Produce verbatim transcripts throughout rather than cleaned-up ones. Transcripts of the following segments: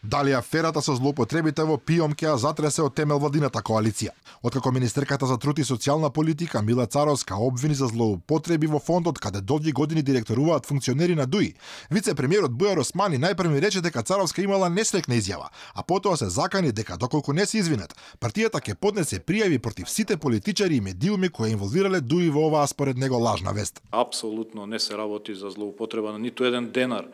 Дали аферата со злоупотребите во ПИОМ ќе ја затресе од темел владината коалиција? Откако министерката за труд и социјална политика Мила Царовска обвини за злоупотреби во фондот каде долги години директоруваат функционери на ДУИ, вице-премиерот Бујар Османи најпрви рече дека Царовска имала несрекна изјава, а потоа се закани дека доколку не се извинат, партијата ќе поднесе пријави против сите политичари и медиуми кои инволвирале ДУИ во оваа според него лажна вест. Апсолутно не се работи за злоупотреба на ниту еден денар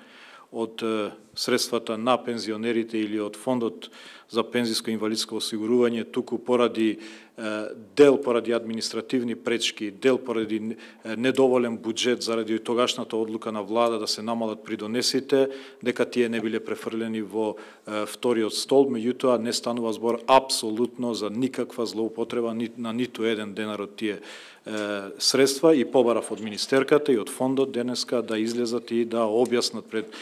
од средствата на пензионерите или од фондот за пензиско и инвалидско осигурување, туку поради дел поради административни пречки, дел поради недоволен буџет заради тогашната одлука на влада да се намалат придонесите, дека тие не биле префрлени во вториот столб, меѓутоа не станува збор апсолутно за никаква злоупотреба на ниту еден денар од тие средства и побарав од министерката и од фондот денеска да излезат и да објаснат пред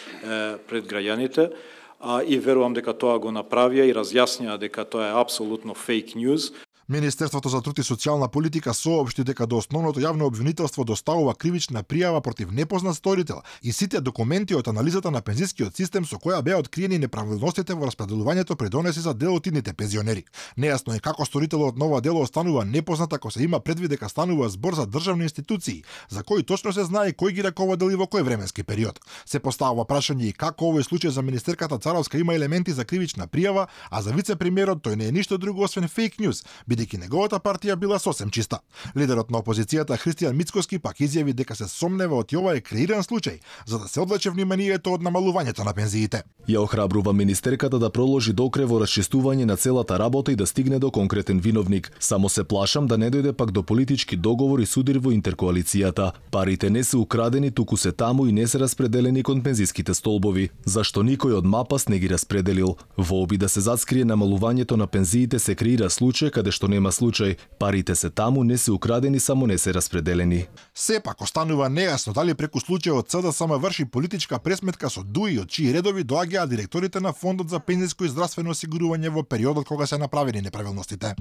пред граѓаните, а и верувам дека тоа го направија и разјаснија дека тоа е апсолутно фейк ньюз. Министерството за труд и социјална политика соопшти дека до основното јавно обвинителство доставува кривична пријава против непознат сторител и сите документи од анализата на пензискиот систем со која беа откриени неправилностите во распределувањето придонеси за дел од идните пензионери. Нејасно е како сторителот на ова дело останува непознат ако се има предвид дека станува збор за државни институции, за кои точно се знае кој ги раководел и во кој временски период. Се поставува прашање и како овој случај за министерката Царовска има елементи за кривична пријава, а за вице-премиерот тој не е ништо друго освен фейк ньюз, бидејќи неговата партија била сосем чиста. Лидерот на опозицијата Христијан Мицкоски пак изјави дека се сомнева од ова е креиран случај, за да се одлече вниманието од намалувањето на пензиите. Ја охрабрува министерката да проложи докре во расчистување на целата работа и да стигне до конкретен виновник. Само се плашам да не дојде пак до политички договор и судир во интеркоалицијата. Парите не се украдени, туку се таму и не се распределени кон пензиските столбови, зашто никој од МАПАС не ги распределил. Во обид да се зацкрие намалувањето на пензиите се креира случај каде што нема случај. Парите се таму, не се украдени, само не се распределени. Сепак останува нејасно дали преку случајот ЦДСМ врши политичка пресметка со ДУИ од чии редови доаѓаат директорите на Фондот за пензиско и здравствено осигурување во периодот кога се направени неправилностите.